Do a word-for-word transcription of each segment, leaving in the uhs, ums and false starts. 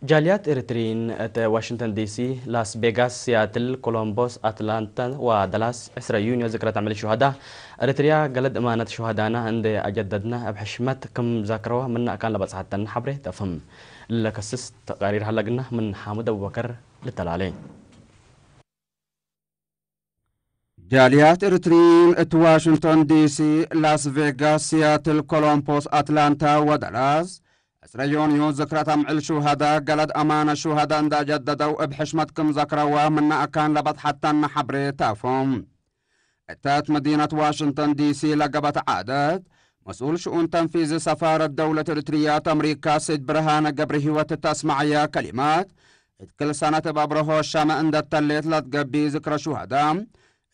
ጃልያት ኤሪትሪይን እት ዋሽንግተን ዲሲ፣ ላስ ቬጋስ፣ ሲያትል፣ ኮሎምቦስ፣ አትላንታ ወደላስ ዕስረ ዩንዮ ዝክረት አምዕል ሹሀዳ። ኤሪትሪያ ገለድ እማነት ሹሀዳና እንዴ አጀደድነ እብ ሕሽመት ክም ዛክረወ ምነ አካን ለበጽሐተን ሐብሬ ተፍህም። ለከስስ ተቃሪር ሀለግና ምን ሓምድ አቡበከር ልተላሌ። ጃልያት ኤሪትሪይን እት ዋሽንግቶን ዲሲ፣ ላስ ቬጋስ፣ ሲያትል፣ ኮሎምፖስ፣ አትላንታ ወደላስ፣ ዕስረ ዮንዮ ዝክረት አምዕል ሹሀዳ ገለድ አማነ ሹሀዳ እንደ አጀደደው እብ ሕሽመት ክም ዘክረወ ምነ አካን ለበጽሐተን ሐብሬ ተፍህም። እተ እት መዲነት ዋሽንግተን ዲሲ ለገበት ዓደት፣ መስኡል ሽኡን ተንፊዚ ሰፋረት ደውለት ኤሪትሪያ እት አምሪካ ሰይድ ብርሃነ ገብረሂወት እት አስመዐየ ከሊማት፣ እት ክል ሰነት እብ አብረሆ ሸመ እንደ ተሌት ለትገብእ ዝክረ ሹሀዳ፣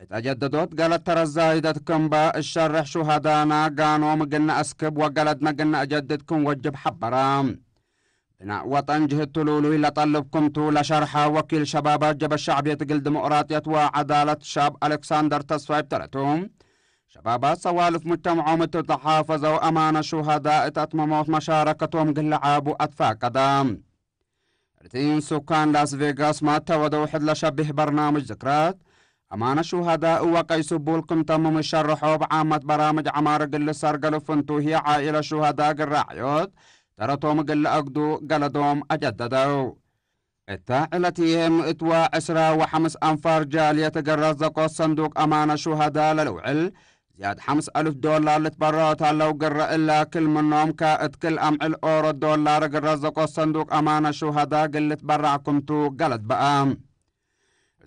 እት አጀደዶት ገለድ ተረት ዛይደት ክም በ እሸርሕ ሹሀዳና ጋኖም እግል ነአስክብ ወገለድነ እግል ነአጀድድ ክም ወጅብ ሐበረ። ብናእ ወጠን ጅህድ ትሉሉይ ለጠልብ ክምቱ ለሸርሐ ወኪል ሸባባት ጀብሀት ሸዕብየት እግል ዲሞቅራጥየት ወዐዳለት ሻብ አሌክሳንደር ተስፋይ እብ ተረቱ፣ ሸባባት ሰዋልፍ ሙጅተምዖም እት ተሓፈዘው አማነ ሹሀዳ እት አትመሞት መሻረከቶም እግል ለዓቡ አትፋቀደ። ርቲን ሱካን ላስ ቬጋስ ማተ ወደው ሕድ ለሸቢህ በርናምጅ ዝክረት አማነ ሹሀዳ እወ ቀይ ስቡል ክም ተምም ሸርሖ፣ እብ ዓመት በራምጅ ዐማር እግል ልሰርገሉ ፍንቱ ህዬ ዓኢለት ሹሀዳ እግል ራዕዮት ተረቶም እግል ለአግዱ ገለዶም አጀደደው። እተ ዕለት ህዬ ምእት ወዕስራ ወሐምስ አንፋር ጃልየት እግል ረዘቆት ሰንዱቅ አማነ ሹሀዳ ለልውዕል ዝያድ ሐምስ አልፍ ዶላር ልትበረዖ ተለው ግረ እለ ክል ምኖም ከእት ክል አምዕል ኦሮ ዶላር እግል ረዘቆት ሰንዱቅ አማነ ሹሀዳ እግል ልትበረዕ ክምቱ ገለድ በአ።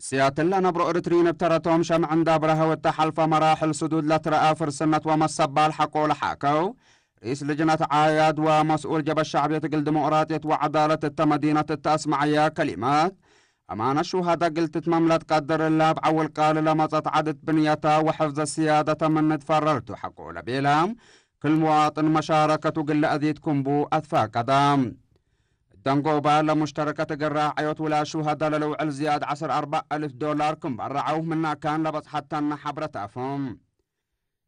ሲያትል ለነብሮ ኤሪትሪን እብ ተረቶም ሸምዕ እንዳ አብረሀው እተ ሐልፈ መራሕል ስዱድ ለትረአ ፍርስነት ወመሰባል ሐቆ ለሓከው ርኢስ ልጅነት ዓያድ ወመስኡል ጀብሀት ሸዕብየት እግል ዲሞቅራጥየት ወዐዳለት እተ መዲነት እተ አስመዐየ ከሊማት፣ አማነት ሹሀዳ እግል ትትመም ለትቀድር እለ እብ ዐውል ቃል ለመጸት ዐድት ብንየተ ወሕፍዘ ስያደተ ምን ትፈረርቱ ሐቆ ለቤለ ክል ሙዋጥን መሻረከቱ እግል ለአዜድ ክምቡ አትፋቀደ። እደንጎባ ለሙሽተረከት እግል ራዐዮት ውላድ ሹሀዳ ለልውዕል ዝያድ ዐስር አርበዕ አልፍ ዶላር ክም በረዐው ምነ አካን ለበጽሐተነ ሐብረት አፎም።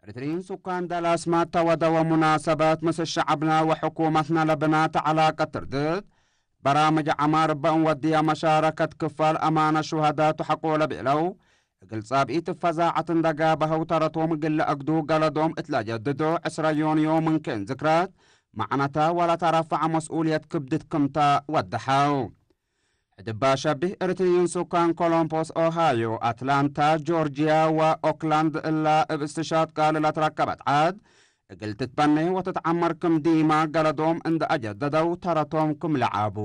ኤሪትሪን ሱካን ዳላስ ማተ ወደወ ሙናሰበት ምስል ሸዐብነ ወሕኩመትነ ለብናተ ዐላቀት ትርድት በራምጅ ዐማር እበ እንወድየ መሻረከት ክፋል አማነት ሹሀዳቱ ሐቆ ለቤለው እግል ጻብኢት እብ ፈዛዐት እንደ ጋብሀው ተረቶም እግል ለአግዱ ገለዶም እት ለአጀድዶ ዕስረ ዮንዮ ምን ክእን ዝክረት መዕነተ ወለተረፈዐ መስኡልየት ክብድት ክምተ ወደሐው። ሕድባ ሸቢህ ኤሪትሪይን ሱካን ኮሎምፖስ ኦሃዮ፣ አትላንታ ጆርጅያ ወኦክላንድ እላ እብ እስትሻድ ቃል ለትረከበት ዐድ እግል ትትበኔ ወትትዐመር ክም ዲማ ገለዶም እንደ አጀደደው ተረቶም ክም ለዓቡ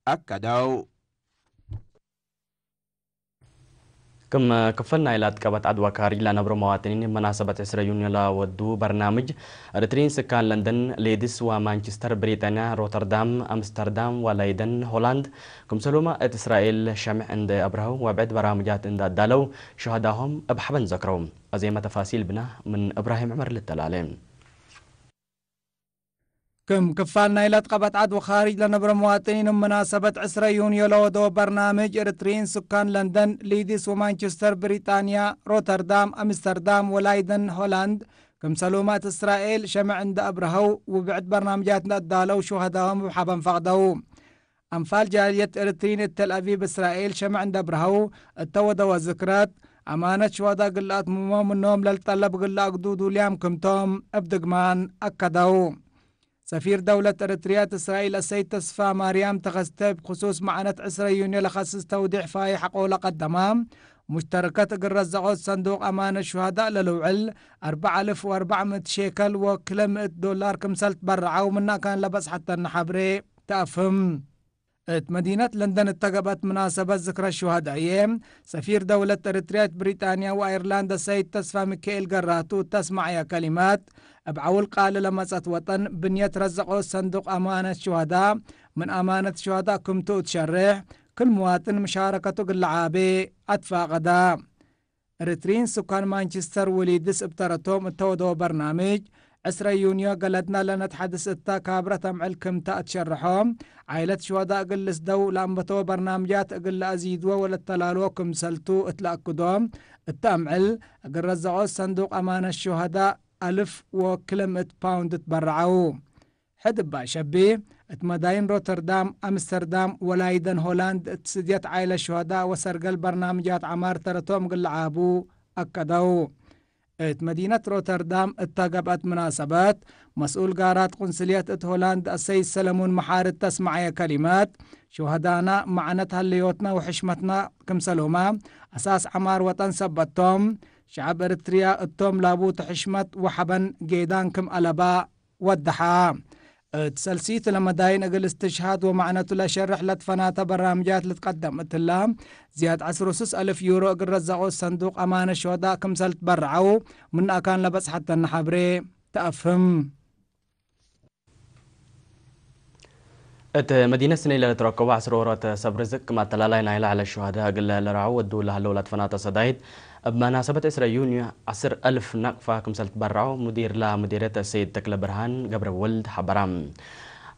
አከደው። ክም ክፈል ናይ ላትቀበት ዐድ ወካርጅ ለነብሮ መዋጥኒን መናሰበት ዕስረ ዩንዮ ለወዱ በርናምጅ፣ ኤሪትሪን ስካን ለንደን፣ ሌድስ ወማንችስተር ብሪጣንያ፣ ሮተርዳም፣ አምስተርዳም ወላይደን ሆላንድ፣ ክምሰሉመ እት እስራኤል ሸምዕ እንደ አብረሀው ወብዕድ በራምጃት እንደ አዳለው ሹሀዳሆም እብ ሐበን ዘክረው። አዜመ ተፋሲል ብና ምን እብራሂም ዕመር ልተላሌ። ክም ክፋል ናይ ለትቀበት ዐድ ወካርጅ ለነብረ መዋጥኒን እብ መናሰበት ዕስረ ዩንዮ ለወደወ በርናምጅ፣ ኤሪትሪን ስካን ለንደን፣ ሊድስ ወማንችስተር ብሪጣንያ፣ ሮተርዳም፣ አምስተርዳም ወላይደን ሆላንድ፣ ክምሰሉመ እት እስራኤል ሸምዕ እንደ አብረሀው ውብዕድ በርናምጃት እንደ አዳለው ሹሀዳሆም እብ ሐበን ፈቅደው። አንፋል ጃልየት ኤሪትሪን እት ተልአቪቭ እስራኤል ሸምዕ እንደ አብረሀው እተ ወደወ ዝክረት፣ አማነት ሹሀዳ እግል ለአትምሞ ምኖም ለልጠለብ እግል ለአግዱ ዱልያም ክምቶም እብ ድግማን አከደው። ሰፊር ደውለት ኤሪትርያ እት እስራኤል አሰይድ ተስፋ ማርያም ተኸስተ እብ ክሱስ መዕነት ዕስረ ዩንዮ ለከስስ ተውዲዕ ፋይሕ ሐቆ ለቀደመ፣ ሙሽተረከት እግል ረዘቆት ሰንዱቅ አማነት ሹሀዳእ ለልውዕል አርበዕ አልፍ ወአርበዕ ምእት ሼከል ወክለ ምእት ዶላር ክምሰል ትበረዐው ምነ አካን ለበጽሐተነ ሐብሬ ተአፍህም። እት መዲነት ለንደን እተ ገብአት ምናሰበት ዝክረ ሹሀዳእዬ፣ ሰፊር ደውለት ኤሪትርያ እት ብሪጣንያ ወአይርላንድ አሰይድ ተስፋ ሚካኤል ገራቱ እተ አስመዐየ ከሊማት፣ እብ ዐውል ቃል ለመጸት ወጠን ብንየት ረዘቆት ሰንዱቅ አማነት ሹሀዳእ፣ ምን አማነት ሹሀዳእ ክምቱ እት ሸሬሕ፣ ክል ሙዋጥን ምሻረከቱ እግል ለዓቤ አትፋቀደ። ኤሪትሪን ስካን ማንችስተር ወሊድስ እብ ተረቶም እተ ወደወ በርናምጅ፣ ዕስረ ዩንዮ ገለድና ለነትሐድስ እተ ካብረት አምዕል ክምተ እት ሸርሖ፣ ዓይለት ሹሀዳእ እግል ልስደው ለአንበተወ በርናምጃት እግል ለአዚድወ ወለተላልዎ ክምሰልቱ እት ለአክዶ፣ እተ አምዕል እግል ረዘቆት ሰንዱቅ አማነት ሹሀዳእ አልፍ ወክለ ምእት ፓውንድ ትበረዐው። ሕድ እባ ሸቢ፣ እት መዳይን ሮተርዳም፣ አምስተርዳም ወላይደን ሆላንድ እት ስድየት ዓይለት ሹሀዳእ ወሰርገል በርናምጃት ዐማር ተረቶም እግል ለዓቡ አከደው። እት መዲነት ሮተርዳም እተ ገብአት ምናሰበት፣ መስኡል ጋራት ቁንስልየት እት ሆላንድ አሰይድ ሰለሙን መሓሪ እተ አስመዐየ ከሊመት፣ ሹሀዳእና መዕነት ሀለዮትና ወሕሽመትና ክምሰሎማ፣ አሳስ ዐማር ወጠን ሰበት ቶም፣ ሸዐብ ኤረትርያ እቶም ላቡቱ ሕሽመት ወሐበን ጌዳን ክም አለባ ወደሐ። እት ሰልሲት ለመዳይን እግል እስትሽሃድ ወመዕነቱ ለሸርሕ ለትፈናተ በራምጃት ልትቀደም እትላ፣ ዝያድ ዐስር ወስስ አልፍ ዩሮ እግል ረዘቆ ሰንዱቅ አማነ ሹሀዳእ ክምሰል ትበረዐው፣ ምን አካን ለበጽሐተነ ሐብሬ ተአፍህም። እት መዲነት ስኔ ለልትረከቡ ዐስር ወሮት ሰብ ርዝቅ ክም አተላላይ ናይለ ዐለ ሹሀዳእ እግል ለረዐው ወዱ ለሀለው ለትፈናተ ሰዳይት፣ እብ መናሰበት ዕስረ ዩንዮ ዐስር አልፍ ናቅፋ ክምሰል ትበረዐው ሙዲርላ ሙዲርየት አሰይድ ተክለ ብርሃን ገብረወልድ ሐበራ።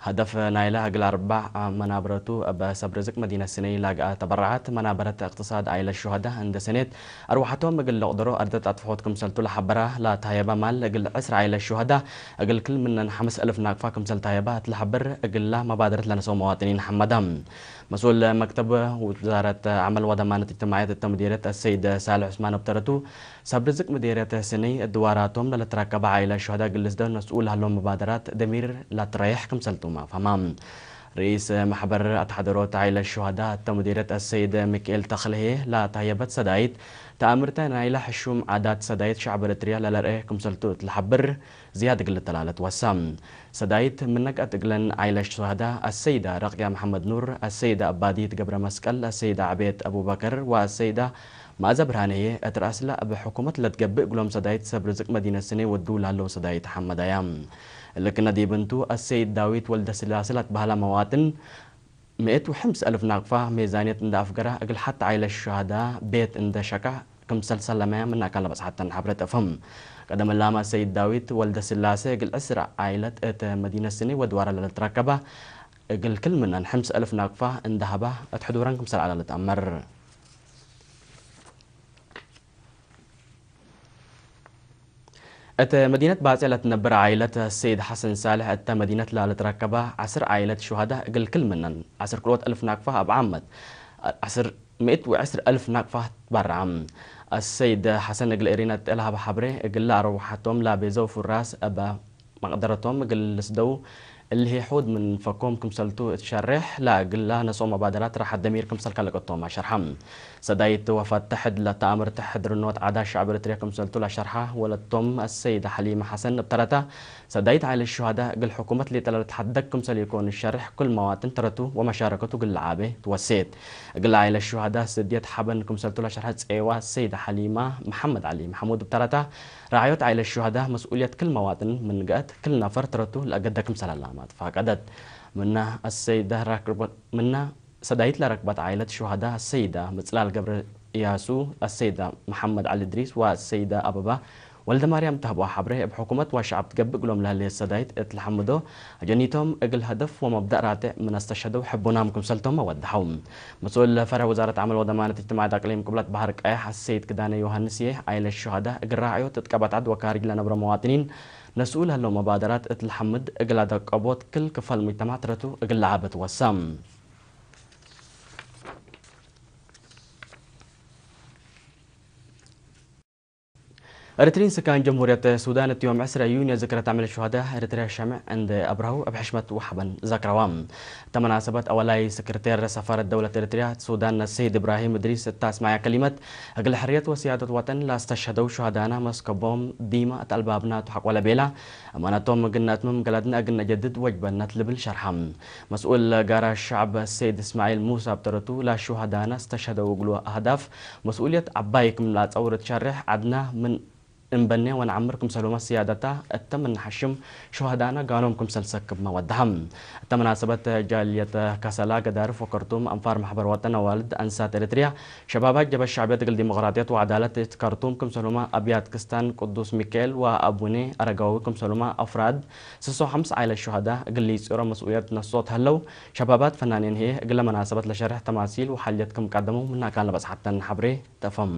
ሀደፍ ናይለ እግል አርባዕ መናብረቱ እብ ሰብ ርዝቅ መዲነት ስኔ ላግአ ተበረዓት መናበረት እቅትሳድ ዓይለት ሹሀዳእ እንዴ ሰኔት፣ አርወሐቶም እግል ልቅደሮ አርደት አጥፍሖት ክምሰልቱ ለሐበራ ለታየበ ማል እግል ዕስር ዓይለት ሹሀዳእ እግል ክል ምነን ሐምስ አልፍ ናቅፋ ክምሰል ታየበ እት ለሐብር እግላ መባደረት ለነሰው መዋጥኒን ሐመዳ። መስኡል መክተብ ውዛረት ዐመል ወደማነት እጅትማዕየት እተ ሙዲርየት አሰይድ ሳልሕ ዑስማን እብ ተረቱ፣ ሰብ ርዝቅ ሙዲርየት ስኒ እድዋራቶም ለልትረከበ ዓይለት ሹሀዳእ እግል ልስደው ነስኡ ለሀለው መባደራት ደሚር ለትረየሕ ክምሰልቱመ አፍሀማ። ርኢስ መሕበር አትሐደሮት ዓይለት ሹሀዳእ እተ ሙዲርየት አሰይድ ሚክኤል ተክልሄ ለታየበት ሰዳይት፣ ተአምርተ ናይለ ሕሹም ዓዳት ሰዳይት ሸዕብ ኤረትርያ ለለርኤ ክምሰልቱ እት ለሐብር፣ ዝያድ እግል ልተላለት ወሳ። ሰዳይት ምን ነቅአት እግለን ዓይለት ሹሀዳእ አሰይዳ ረቅያ መሐመድ ኑር፣ አሰይዳ አባዲት ገብረ መስቀል፣ አሰይዳ ዕቤት አቡበከር ወአሰይዳ መአዘ ብርሃን ህዬ፣ እት ረአስለ እብ ሕኩመት ለትገብእ እግሎም ሰዳይት ሰብ ርዝቅ መዲነት ስኔ ወዱ ለሀለው ሰዳይት ሐመዳያ። እሊ ክእነ ዲብ እንቱ፣ አሰይድ ዳዊት ወልደስላሴ ለትበሀለ መዋጥን፣ ምእት ወሐምስ አልፍ ናቅፋ ሜዛንየት እንዴ አፍገረ፣ እግል ሐቲ ዓይለት ሹሀዳእ ቤት እንዴ ሸቀ፣ ክምሰል ሰለመ ምን አካን ለበጽሐተን ሐብሬ ተአፍህም። ቀደም እላመ ሰይድ ዳዊት ወልደስላሴ እግል ዕስር ዓኢለት እት መዲነት ስኒ ወድዋረ ለልትረከበ እግል ክል ምነን ሐምስ አልፍ ናቅፋ እንዴ ሀበ እት ሕዱረን ክምሰል ዐለ ልትአመር። እት መዲነት ባጽዕ ለትነብር ዓኢለት ሰይድ ሐሰን ሳልሕ እተ መዲነት ለልትረከበ ዐስር ዓኢለት ሹሀዳእ እግል ክል ምነን ዐስር ክልኦት አልፍ ናቅፋ እብ ዓመት ዐስር ምእት ወዕስር አልፍ ናቅፋ ትበረዐ። አሰይድ ሐሰን እግል ኤሪና እት ለሀበ ሐብሬ፣ እግለ አርወሐቶም ለቤዘው ፍራስ እበ መቅደረቶም እግል ልስደው እልሂ ሑድ ምን ፈኮም ክምሰልቱ እት ሸሬሕ፣ ለእግለ ነስኦ መባደራት ራሐት ደሚር ክምሰል ከለቀቶም አሸርሐ። ሰዳይት ወፈት ተሕድ ለተአምርተ ሕድርኖት ዓዳት ሸዕብ ኤረትርያ ክምሰልቱ ለሸርሐ ወለቶም አሰይደ ሐሊመ ሐሰን እብ ተረተ፣ ሰዳይት ዓኢለት ሹሀዳእ እግል ሕኩመት ሌጠ ለልትሐደግ ክምሰል ኢኮን ሸሬሕ፣ ክል መዋጥን ተረቱ ወመሻረከቱ እግል ለዓቤ ትወሴት። እግል ዓኢለት ሹሀዳእ ስድየት ሐበን ክምሰልቱ ለሸርሐት ጼዋ ሰይድ ሐሊማ መሐመድ ዐሊ መሐሙድ እብ ተረታ፣ ረዓዮት ዓኢለት ሹሀዳእ መስኡልየት ክል መዋጥን ምን ገአት፣ ክል ነፈር ተረቱ ለአገደ ክምሰል ዐላማት ፈቀደት። ምነ አሰይደ ራክርቦት፣ ምነ ሰዳይት ለረክበት ዓኢለት ሹሀዳእ አሰይዳ ምጽላል ገብረ እያሱ፣ አሰይዳ መሐመድ ዐሊ እድሪስ ወአሰይዳ አበባ ወልደማርያም ተህቦ ሐብሬ፣ እብ ሕኩመት ወሸዐብ ትገብእ እግሎም ለህሌት ሰዳይት እት ለሐምዶ፣ አጀኒቶም እግል ሀደፍ ወመብደእ ራቴዕ ምን አስተሸህደው ሕቡናም ክምሰልቶም ወደሐው። መስኡል ፈርዕ ውዛረት ዐመል ወደማነት እጅትማዕየት አቅሊም ቅብለት በሐር ቀየሕ አሰይድ ክዳነ ዮሐንስዬ፣ ዓኢለት ሹሀዳእ እግል ራዕዮት እት ቀበት ዐድ ወካርጅ ለነብሮ መዋጥኒን ነስኡ ለህለው መባደራት እት ለሐምድ፣ እግል አደቀቦት ክል ክፈል ሙጅተማዕ ተረቱ እግል ለዓበ ትወሳ። ኤረትርዪን ስካን ጀምሁርየት ሱዳን እት ዮም ዕስረ ዩንዮ ዝክረ ተዕሚል ሹሀዳእ ኤረትርያ ሸምዕ እንዴ አብረሀው እብ ሕሽመት ወሐበን ዘክረዋ። እተ መናሰበት አወላይ ሰክረቴር ሰፋረት ደውለት ኤረትርያ ሱዳን ሰይድ እብራሂም እድሪስ እተ አስመዐ ከሊመት፣ እግል ሕርየት ወስያደት ወጠን ለአስተሸህደው ሹሀዳእና መስከቦም ዲመ እት አልባብና ቱ ሐቆ ለቤላ፣ አማነቶም እግል ነአትምም ገለድነ እግል ነጀድድ ወጅበነት ልብል ሸርሐ። መስኡል ጋራ ሸዕብ ሰይድ እስማዒል ሙሳ እብ ተረቱ፣ ለሹሀዳእና እስተሸህደው እግሉ አህዳፍ መስኡልየት ዐባይ ክም ለአጸውር ትሸሬሕ፣ ዐድና ምን እንበኔ ወነዐምር ክምሰልሁመ ስያደታ እተ ምን ነሐሽም ሹሀዳእና ጋኖም ክምሰል ሰክብመ ወደሐ። እተ መናሰበት ጃልየት ከሰላ፣ ገዳርፍ ወከርቱም፣ አንፋር ማሕበር ወጠን፣ አዋልድ አንሳት ኤረትርያ፣ ሸባባት ጀብሀት ሸዕብየት እግል ዲሞቅራጥየት ወዐዳለት እት ከርቱም ክምሰልሁመ አብያት ክስታን ቅዱስ ሚካኤል ወአቡኔ አረጋዊ ክምሰልሁመ አፍራድ ስሶ ሐምስ ዓኢለት ሹሀዳእ እግል ሊጺሮ መስኡልየት ነስኦት ሀለው። ሸባባት ፈናኔን ህዬ እግለ መናሰበት ለሸሬሕ ተማሲል ወሐልየት ክም ቀደመው ምነ አካን ለበጽሐተን ሐብሬ ተአፍህም።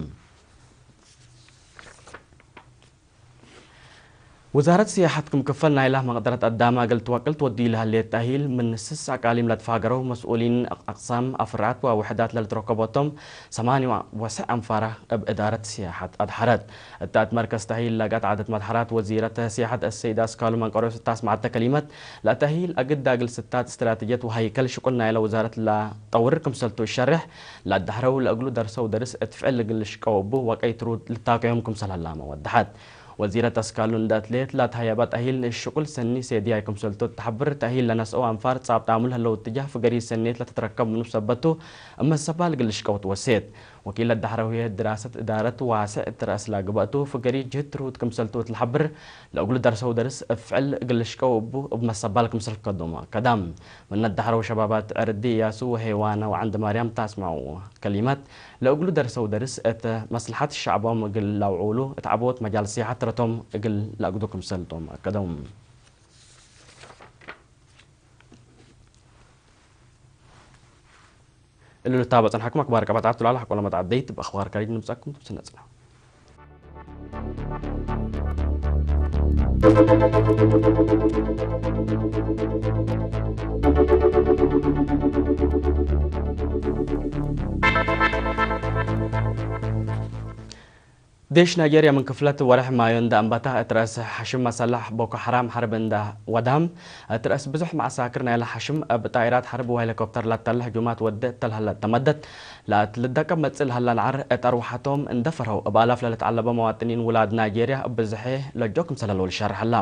ውዛረት ስያሐት ክም ክፈል ናይላ መቅደረት አዳመ እግል ትወቅል ትወድዩ ለህሌት ተእሂል፣ ምን ስስ አቃሊም ለትፋገረው መስኡሊን አቅሳም፣ አፍራዓት ወውሕዳት ለልትረከቦቶም ሰማንያ ወሰዕ አንፋራ እብ እዳረት ስያሐት አድሐረት። እተ እት መርከዝ ተእሂል ለገአት ዓደት መድሐራት ወዚረት ስያሐት አሰይድ አስካሉ መንቀርዮስ እተ አስመዐተ ከሊመት፣ ለተእሂል አግዳ እግል ስታት እስትራተጅየት ወሀይከል ሽቁል ናይለ ውዛረት ለጠውር ክምሰልቱ እሸሬሕ፣ ለአዳሐረው ለእግሉ ደርሰው ደርስ እት ፍዕል እግል ልሽቀው እቡ ወቀይ ትሩድ ልታቀዮም ክምሰል ሀላመ ወደሐት። ወዚረት አስካሉ እንደ አትሌት ለትሀየበ ተእሂል ሽቁል ሰኒ ሴድያይ ክምሰልቱ ተሐብር፣ ተእሂል ለነስአው አንፋር ጻብጣሙ ለህለው እትጃህ ፍገሪ ሰኔት ለትትረከብ ምኑ ሰበቱ እመ ሰባል እግል ልሽቀው ትወሴት። ወኪል ለዳሕረው ህዬ ድራሰት እዳረት ዋስዕ እት ረአስ ላግበእቱ፣ ፍገሪ ጅህት ትርሁት ክምሰልቱ እት ለሐብር፣ ለእግሉ ደርሰው ደርስ እብ ፍዕል እግል ልሽቀው እቡ እብ መሰባል ክምሰል ከዶም አከዳም። ምነ ዳሕረው ሸባባት ዕርዲ እያሱ ወሄዋነ ወዐንድ ማርያም ታስመዐው ከሊመት፣ ለእግሉ ደርሰው ደርስ እት መስለሐት ሸዕቦም እግል ለአውዑሉ እት ዐቦት መጃል ሲሐት ተረቶም እግል ለአግዱ ክምሰልቶም አከደው። እሉ ልታበ ጸንሐኩም አክባር ቀበጣት ላለ ሐቆለ መትዐደይት በአክባር ከሪድ ንምጻኩም ትብስነ ጽና። ዴሽ ናይጄርያ ምን ክፍለት ወርሕ ማዮ እንደ አንበተ፣ እት ረአስ ሐሽም መሰለሕ ቦኮ ሐራም ሐርብ እንደ ወዳም፣ እት ረአስ ብዙሕ መዐሳክር ናይለ ሐሽም እብ ጣኢራት ሐርብ ወሄሊኮፕተር ለተለ ህጁማት ወደ እተ ለሀለ ተመደት፣ ለእት ልደቀብ መጽእ ለሀለ ለዐር እት አርወሐቶም እንደ ፈርሀው፣ እብ አላፍ ለልትዐለበ መዋጥኒን ውላድ ናይጄርያ እብ ብዝሐ ለእጆ ክምሰል ህለው ልሸርሕ ህለ።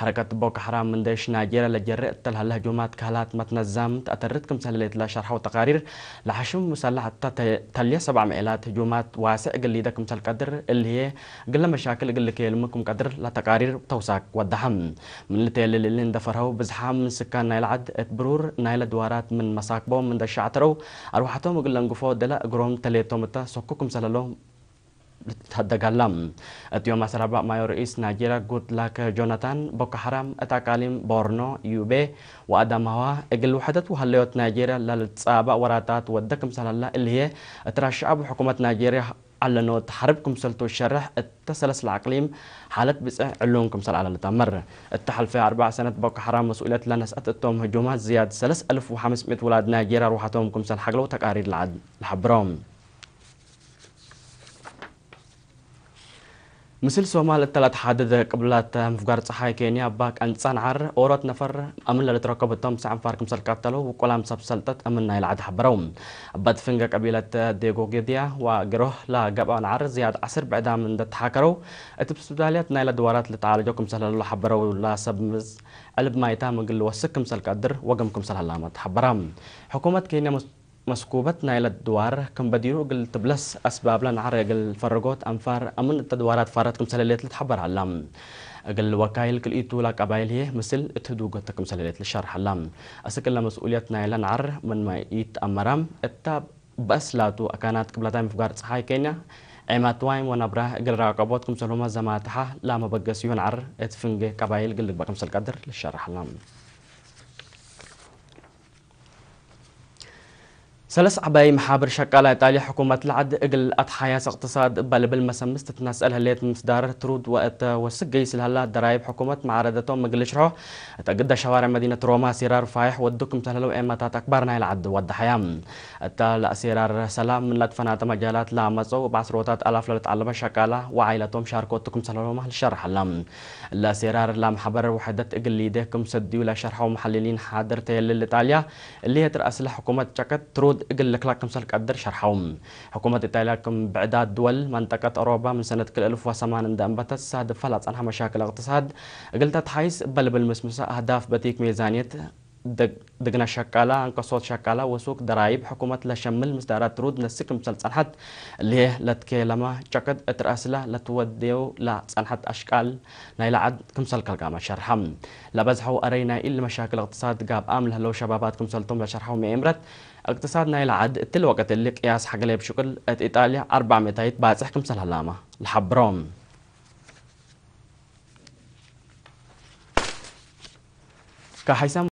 ሐረከት ቦኮ ሐራም ምን ዴሽ ናይጄርያ ለጀሬ እተ ለሀለ ህጁማት ከህላት መትነዛም ተአተርት ክምሰል ህሌት ለሸርሐው ተቃሪር፣ ለሐሽም ሙሰለሕ እተ ተ-፣ ተልየ ሰብዕ ምኤላት ህጁማት ዋስዕ እግል ሊደ ክምሰል ቀድር፣ እሊ ህዬ እግለ መሻክል እግል ልክየልሙ ክም ቀድር ለተቃሪር ተውሳክ ወደሐ። ምን ልትየልል እሊ እንደ ፈርሀው፣ ብዝሓም ምን ስካን ናይለ ዐድ እት ብሩር ናይለ ድዋራት ምን መሳክቦም እንደ ሸዕትረው፣ አርወሐቶም እግል ለንግፎ ደለ እግሮም ተሌቶም እተ ሰኩ ክምሰል ህለው ልትሀደግ ሀላ። እት ዮም አስር አርበዕ ማዮ ርኢስ ናይጄርያ ጉድላክ ጆናታን፣ ቦኮ ሐራም እት አቃሊም ቦርኖ፣ ዩቤ ወአዳማዋ እግል ውሕደት ወሀለዮት ናይጄርያ ለልትጻባእ ወራታት ወደ ክምሰል ሀላ፣ እሊ ህዬ እት ራስ ሸዐብ ወሕኩመት ናይጄርያ ዐለኖት ሐርብ ክምሰልቱ ሸርሕ፣ እተ ሰለስ ለአቅሊም ሓለት ብጽሕ ዕሉም ክምሰል ዐለ ልትአመር። እተ ሐልፈ አርበዕ ሰነት ቦኮ ሐራም መስኡልየት ለነስአት እቶም ህጁማት ዝያድ ሰለስ አልፍ ወሐምስ ምእት ውላድ ናይጄርያ አርወሐቶም ክምሰል ሐግለው ተቃሪር ለሐብሮ። ምስል ሶማል እተ ለአትሓድድ ቅብለት ምፍጋር ጸሓይ ኬንያ እባ ቀንጻ ነዓር ኦሮት ነፈር አምን ለልትረከብ እቶም ሰዕ አንፋር ክምሰል ቀተለው ውቁላም ሰብ ሰልጠት አምን ናይለ ዐድ ሐበረው። እበት ፍንገ ቀቢለት ዴጎጌድያ ወግሮህ ለገብአ ነዓር ዝያድ ዐስር ብዕዳም እንደ ተሓከረው፣ እት ስብዳልያት ናይለ ድዋራት ልትዓለጆ ክምሰል ህለው ሐበረው። ለሰብ ምዝ ዕልብ ማይታም እግል ልወስክ ክምሰል ቀድር ወገም ክምሰል ሀላመ ተሐበረ። ሕኩመት ኬንያ መስ-፣ መስኩበት ናይለ ድዋር ክም በዲሩ እግል ትብለስ አስባብለ ነዓር እግል ፈርጎት አንፋር አምን እተ ድዋራት ፋረት ክምሰል ህሌት ልትሐበር ሀላ። እግል ወካይል ክልኢቱ ለቀባይል ህዬ ምስል እት ህዱገት ክምሰል ህሌት ልሸርሕ ሀላ። አስክ እለ መስኡልየት ናይለ ነዓር ምንመ ኢትአመራም እተ በአስ ላቱ አካናት ቅብለታይ ምፍጋር ጸሓይ ኬንያ ዔማትዋይም ወነብረ እግል ራቀቦት ክምሰልሁመ ዘማትሐ ለመበገስዩ ነዓር እት ፍንጌ ቀባይል እግል ልግበእ ክምሰል ቀድር ልሸርሕ ሀላ። ሰለስ ዐባይ መሓብር ሸቃላ ኢጣልያ ሕኩመት ለዐድ እግል አትሓያስ እቅትሳድ እበ ልብል መሰምስ ትትነሰአል ህሌት ምስዳር ትሩድ ወእተ ወስክ ገይስ ለሀላ ደራይብ ሕኩመት መዓረደቶም እግል ልሽርሖ እተ ግደ ሸዋርዕ መዲነት ሮማ ሲራር ፋይሕ ወዱ ክምሰል ህለው ኤመታት አክባር ናይለ ዐድ ወደሐያ። እተ ለአሴራር ሰላም ምን ለትፈናተ መጃላት ለአመጸው እብ ዐስሮታት አላፍ ለልትዐለመ ሸቃላ ወዓይለቶም ሻርኮቱ ክምሰል ህለው ልሸርሕ ሀላ። ለአሴራር ለመሕበር ውሕደት እግል ሊዴ ክም ሰድዩ ለሸርሐው መሐልሊን ሓድር ተየልል ኢጣልያ፣ እሊ ህይ እት ረአስለ ሕኩመት ጨቀት ትሩድ እግል ልክለቅ ክምሰል ቀድር ሸርሐው። ሕኩመት ኢጣልያ ክም ብዕዳት ድወል መንጠቀት አውሮባ ምን ሰነት ክልኤ አልፍ ወሰማን እንደ አንበተት ሳድፈ ለጸንሐ መሻክል እቅትሳድ እግል ተትሓይስ እበ ልብል ምስምሰ አህዳፍ በቲክ ሜዛንየት፣ ድግ-፣ ድግነ ሸቃላ፣ አንቀሶት ሸቃላ ወሱክ ደራይብ ሕኩመት ለሸምል ምስዳራት ትሩድ ነስክ ክምሰል ጸንሐት፣ እሊ ህይ ለትኬለመ ጨቀት እት ረአስለ ለትወዴው ለጸንሐት አሽቃል ናይለ ዐድ ክምሰል ከልጋመ ሸርሐ። ለበዝሐው አረይ ናይ እሊ መሻክል እቅትሳድ ጋብአም ለህለው ሸባባት ክምሰልቶም ለሸርሐው መኤምረት፣ እቅትሳድ ናይለ ዐድ እትሊ ወቅት እሊ ቅያስ ሐግሌ እብ ሽቅል እት ኢጣልያ አርበዕ ምእታይት ባጽሕ ክምሰል ሀላመ ለሐብሮ። ከሐይሰም